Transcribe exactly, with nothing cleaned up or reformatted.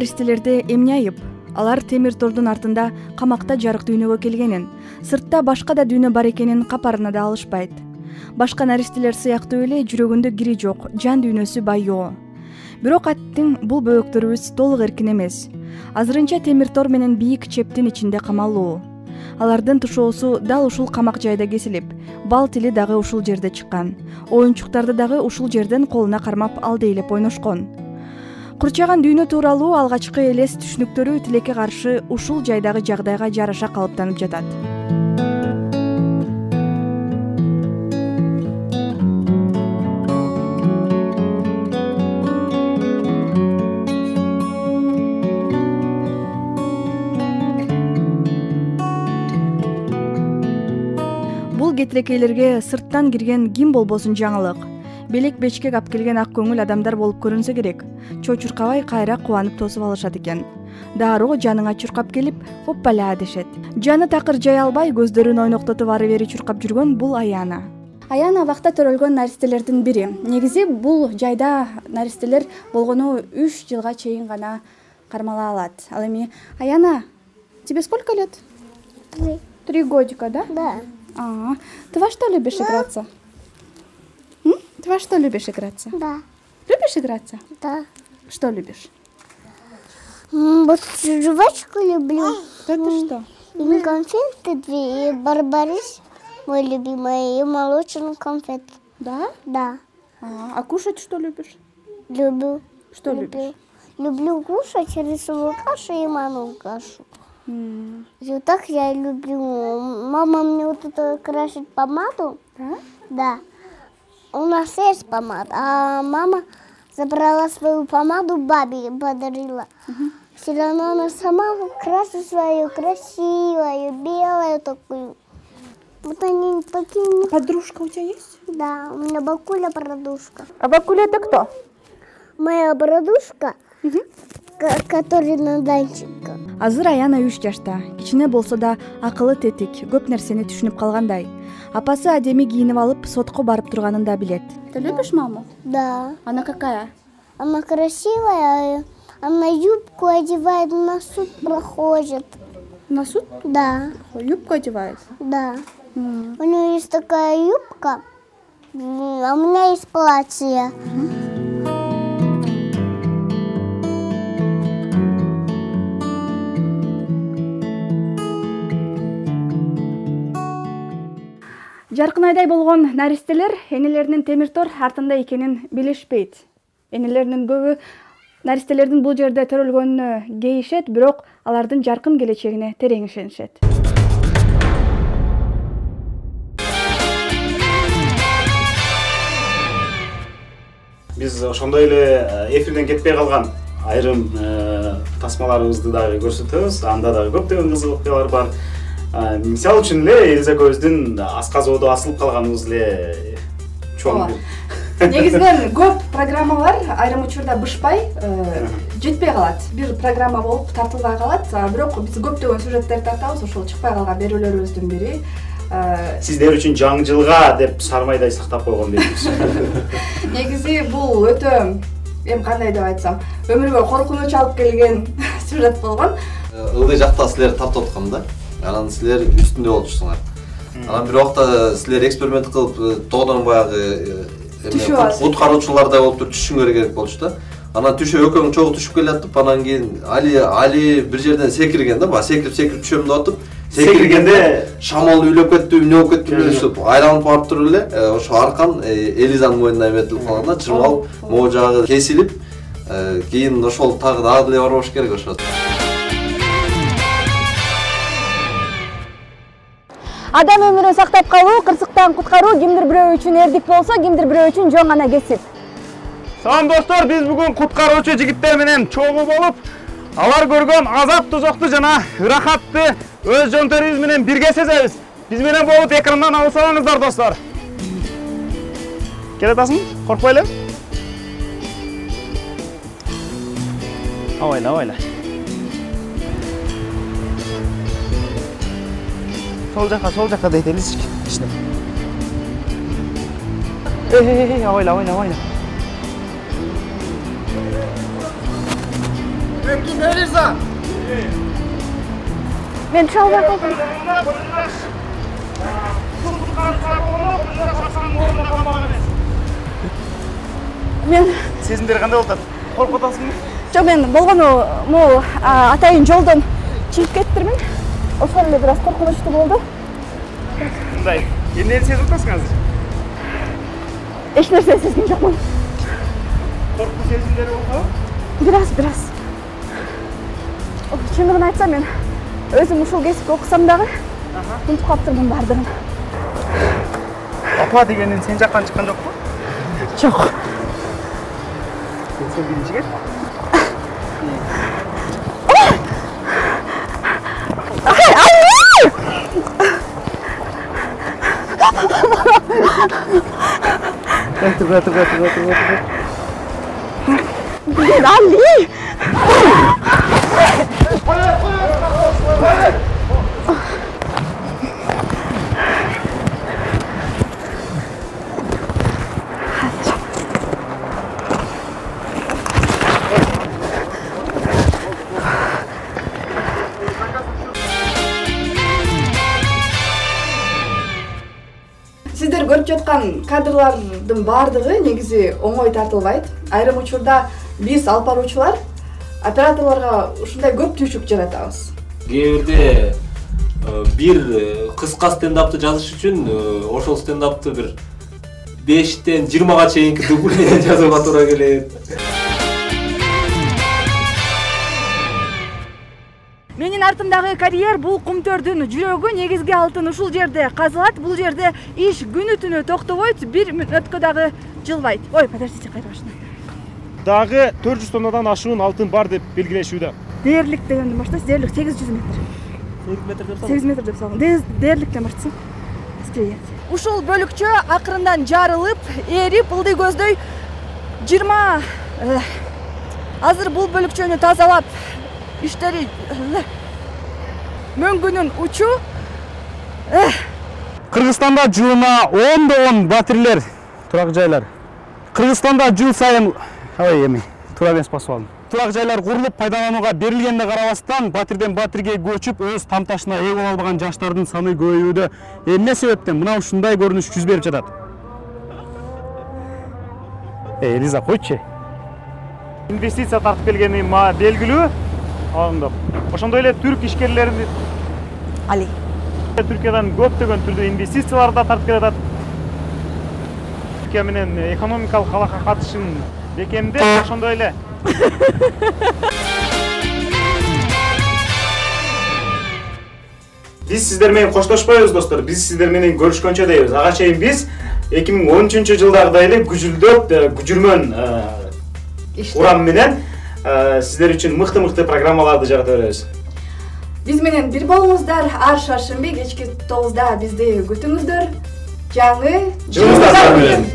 наристелерде эмне айып? Алар темир тордун артында камакта жарык дүйнөгө келгенин, сыртта башка да дүйнө бар экенин капарына да алышпайт. Башка наристелер сыяктуу эле жүрөгүндө кири жок, жан дүйнөсү байоо. Бирок аттың бул бөөктөрүбүз толук эркин эмес. Азырынча темир тор менен бийик чептин ичинде камалуу. Алардын тушоосу дал ушул камак жайда кесилип, бал тили дагы ушул жерде чыккан. Оюнчуктарды дагы ушул жерден колуна кармап алдейлеп ойношкон. Курчаган дүйнө тууралуу алгачкы элес түшүнүктөрү тилекке каршы ушул жайдагы жагдайга жараша калыптанып жатат. Бул кетирекейлерге сырттан кирген ким болбосун жаңылык. Белек бечкек ап келген ак көңүл адамдар болуп көрүнсө керек. Чочуркабай кайра кубанып тосуп алышат экен. Дароо жаныңа чуркап келип, оппала дешет. Жаны такыр жай албай, көздөрүн ойноктотуп ары бери чуркап жүргөн бул Аяна. Аяна абакта төрөлгөн наристелердин бири. Негизи бул жайда наристелер болгону үч жылга чейин гана кармала алат. Ал эми Аяна, тебе сколько лет? Три. Три годика, да? Да. А, ты во что любишь играться? М? Ты во что любишь играться? Да. Любишь играться? Да. Что любишь? М, Вот жвачку люблю. Это что? И конфеты две, и барбарис, мой любимый, и молочный конфет. Да? Да. А, а кушать что любишь? Люблю. Что люблю. любишь? Люблю кушать рисовую кашу и манную кашу. М, И вот так я люблю. Мама мне вот это красит помаду. Да? Да. У нас есть помада, а мама забрала свою помаду, бабе подарила. Все равно она сама красит свою красивую, белую такую. Вот они такие. Подружка у тебя есть? Да, у меня бабуля подружка. А Бакуля это кто? Моя подружка, ко- которая на датчиках. Азыр Аяна үч жашта. Кичине болсо да акылы тетик, көп нерсени түшүнүп калгандай. Апасы адеми кийинип алып, сотко барып турганын да билет. Ты любишь маму? Да. Она какая? Она красивая, она юбку одевает, на суд проходит. На суд Да, юбку одевает. да. М. У нее есть такая юбка, м, а у меня есть платье. Жаркын айдай болгон наристелер энелеринин темир тор артында экенин билишпейт. Энелеринин көбү наристелердин бул жерде төрөлгөнүнө кейишет, бирок алардын жаркын келечегине терең ишенишет. Биз ошондой эле эфирден кетпей калган айрым тасмаларыбызды дагы көрсөтөбүз. Анда дагы көптөгөн кызык окуялар бар. Мисалы үчүн эле Элиза экөөбүздүн асказоодо асылып калганыбыз эле чоң. Негизинен көп программалар айрым учурда бышпай жетпей калат. Бир программа болуп тартылбай калат, бирок биз көптөгөн сюжеттерди тартабыз, ошол чыкпай калган берүүлөрүбүздүн бири. Сиздер үчүн жаңы жылга деп сармайдай сактап койгон беребиз. Негизи бул өтө, эми кандай деп айтсам, өмүргө коркунуч алып келген сюжет болгон. Ылдый жакта силер тартып аткан да. Анан силер үстүндө болчусуңар. Анан бир убакта силер эксперимент кылып, тоодон баягы куткаруучулардай болуп туруп түшүңөр керек болчу да. Анан түшө экөөң чогуу түшүп келатып, анан кийин Али Али бир жерден секирген да, баягы секирип секирип түшөм деп атып, секиргенде шамал үйлөп кетти, эмне болуп кетти билбейсиз. Айланып барып туруп эле, ошо аркан Элизанын мойнуна эметилип калган да, чырмал могу жагы кесилип, кийин ошол тагы дагы деле барбаш керек ошо. Адам өмүрүн сактап калуу, кырсыктан куткаруу кимдир бирөө үчүн эрдик болсо, кимдир бирөө үчүн жоң гана кесип. Салам достор, биз бүгүн куткаруучу жигиттер менен чогуу болуп, алар көргөн азап тозокту жана ырахатты өз жөнтөрүбүз менен бирге сезебиз. Биз менен болуп экрандан алысаңыздар достор. Келе атасың? Коркпой эле. Авайла, авайла. Сол жака, сол жака дейт элизик. Кичине. Эй, авайла, авайла, авайла. Ким Элиза? Мен чалбай калдым. Мен Сезимдери кандай болуп атат? Коркуп атасыңбы? жок, мен болгону могу атайын жолдон чыгып кеттирмин. Ошол эле бир аз коркунучтуу болду. Мындай. Эмнени сезип атасың азыр? Эч нерсе сезген жокмун. Коркуу сезимдери болбойбу? Бир аз, бир аз. Чындыгын айтсам, мен өзүм ушул кесипти окусам дагы унутуп калыптырмын баардыгын. Апа дегенден сен жактан чыккан жокпу? Жок. Сен биринчи кел. Tur, tur, tur, tur, tur, tur. Ali! Сиздер көрүп жаткан кадрлардын баардыгы негизи оңой тартылбайт. Айрым учурда биз алып баруучулар операторлорго ушундай көп түйшүк жаратабыз. Кээ бирде бир кыска стендапты жазыш үчүн ошол стендапты бир бештен жыйырмага чейинки дубль жазууга туура келет. Менин артымдагы карьер бул кумтөрдүн жүрөгү, негизги алтын ушул жерде казылат. Бул жерде иш күнү түнү токтобойт, бир мүнөткө дагы жылбайт. Ой, подождите, кайра башына. Дагы төрт жүз тоннадан ашуун алтын бар деп белгилешүүдө. Дээрлик дегенден баштайсыз, дээрлик сегиз жүз метр. сегиз метр деп сегиз метр деп салган. Дээрликтен баштасаң. Ушул бөлүкчө акырындан жарылып, эрип, ылдый көздөй жыйырма азыр бул бөлүкчөнү тазалап иштери мөңгүнүн учу. Кыргызстанда жылына ондогон батирлер, турак жайлар. Кыргызстанда жыл сайын, ой эми, туура эмес басып алдым. Турак жайлар курулуп пайдаланууга берилгенде карабастан, батирден батирге көчүп, өз тамташына ээ боло албаган жаштардын саны көбөйүүдө. Эмне себептен мына ушундай көрүнүш жүз берип жатат? Эй, Элиза, койчу. Инвестиция тартып келгени белгилүү. Алындап. Ошондой эле түрк ишкерлерин Али. Түркиядан көптөгөн түрдүү инвестициялар да тартып келатат. Түркия менен экономикалык алака катышын бекемдеп, ошондой эле биз сиздер менен коштошпойбуз, достор. Биз сиздер менен көрүшкөнчө дейбиз. Ага чейин биз эки миң он үчүнчү жылдагыдай эле күжүлдөп, күжүрмөн урам менен сиздер үчүн мыкты-мыкты программаларды жарата беребиз. Биз менен бир болуңуздар, ар шаршемби кечки тогузда бизди күтүңүздөр. Жаңы жылыңыздар менен.